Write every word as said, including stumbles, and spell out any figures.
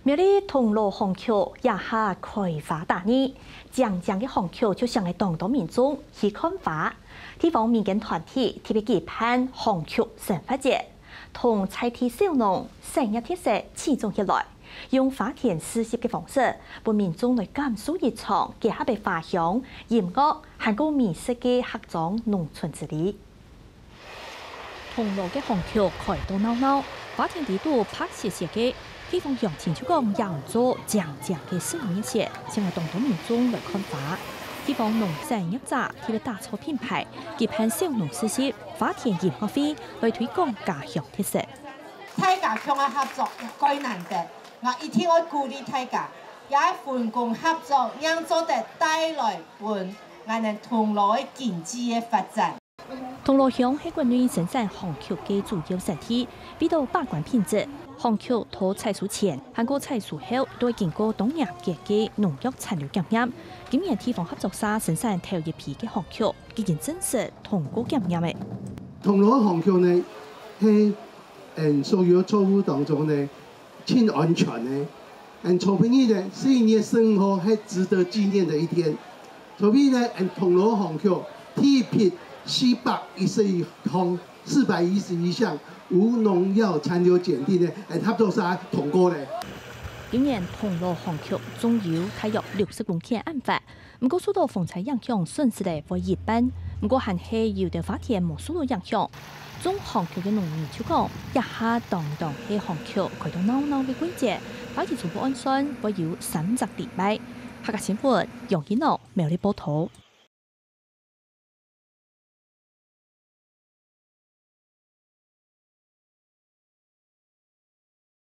苗栗銅鑼巷區這下開花大熱，靚靚个巷區就吸引當多民眾去看花。地方民間團體特別舉辦巷區生活節，同在地小農產業特色推廣起來，用花田試食个方式，分民眾來感受一場結合个花香、音樂，還過美食个客庄農村之旅。 銅鑼个巷區開到鬧鬧，花田裡肚白雪雪个，地方鄉親就講仰做靚靚个食物熱線，吸引當多民眾來看花。地方農產業者特別打造品牌，舉辦小農市集、花田音樂會，來推廣家鄉特色。大家共下合作也蓋難得，𠊎一定愛鼓勵大家，也愛分工合作，正做得帶來分𠊎等銅鑼个經濟个發展。 銅鑼鄉係國內生產巷區个主要產地，為著把關品質，巷區在採收前，還過採收後，都愛經過當嚴格个農藥殘留檢驗。今年地方合作社生產頭一批个巷區，已經正式通過檢驗了。銅鑼巷區呢，係，嗯，所有作物當中呢， 盡安全个。嗯，昨晡日呢，四月十五號係值得紀念的一天。昨晡日呢，嗯，銅鑼巷區第一批四百一十一項，四百一十一項無農藥殘留檢定呢，嗯，合作社通過了。今年銅鑼巷區總有大約六十公頃恁闊， 毋過受到風災影響，損失了會一半。毋過還係有兜花田無受到影響。中巷區个農民就講，這下當當係巷區開到鬧鬧个季節，花期全部按算會有三隻禮拜。客家新聞，楊一諾，苗栗報導。